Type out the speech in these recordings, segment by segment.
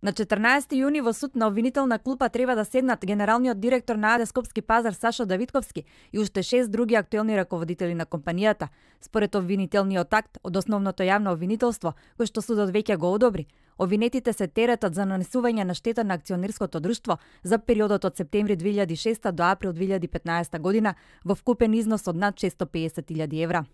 На 14 јуни во суд на обвинителна клупа треба да седнат генералниот директор на АД Скопски пазар Сашо Давидковски и уште 6 други актуелни раководители на компанијата. Според обвинителниот акт од основното јавно обвинителство, кој што судот веќе го одобри, обвинетите се теретат за нанесување на штета на акционерското друштво за периодот од септември 2006 до април 2015 година во вкупен износ од над 650.000 евра.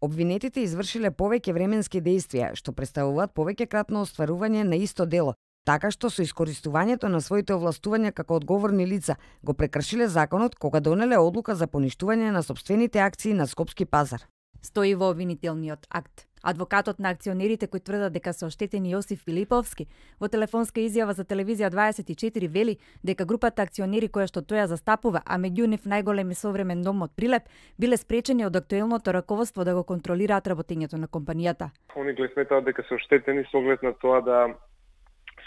Обвинетите извршиле повеќе временски дејствија, што представуваат повеќекратно остварување на исто дело, така што со искористувањето на своите овластувања како одговорни лица го прекршиле законот кога донеле одлука за поништување на сопствените акции на Скопски пазар. Стои во обвинителниот акт. Адвокатот на акционерите кои тврдат дека се оштетени Јосиф Филиповски во телефонска изјава за телевизија 24 вели дека групата акционери која што тоја застапува, а меѓу нив најголем и современ дом од Прилеп, биле спречени од актуелното раководство да го контролираат работењето на компанијата. Они ги сметаат дека се оштетени со оглед на тоа да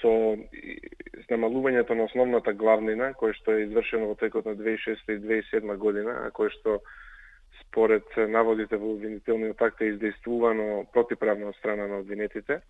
со намалувањето на основната главнина, која што е извршено во текот на 2006 и 2007 година, а која што според наводите во обвинителниот акт е издействувано противправно од страна на обвинетите,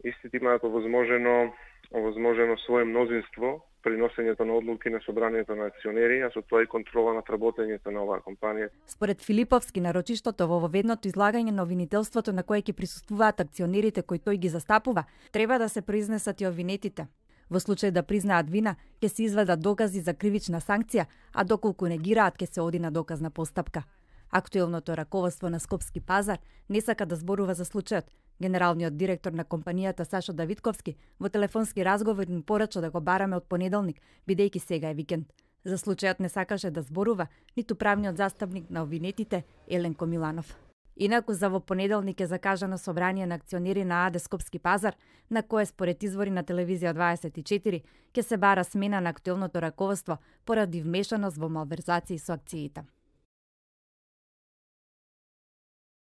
истите имаат овозможено свое мнозинство при носењето на одлуки на собранието на акционери, а со тоа и контрола над работењето на оваа компанија. Според Филиповски, нарочиштото во воведното излагање на обвинителството на кое ќе присуствуваат акционерите кои тој ги застапува, треба да се произнесат и обвинетите. Во случај да признаат вина, ќе се изведат докази за кривична санкција, а доколку негираат, ќе се оди на доказна постапка. Актуелното раководство на Скопски пазар не сака да зборува за случајот. Генералниот директор на компанијата Сашо Давидковски во телефонски разговор ни порача да го бараме од понеделник, бидејќи сега е викенд. За случајот не сакаше да зборува ниту правниот застапник на обвинетите Еленко Миланов. Инаку за во понеделник е закажано собрание на акционери на АД Скопски пазар, на кое според извори на телевизија 24 ќе се бара смена на актуелното раководство поради вмешаност во малверзации со акциите.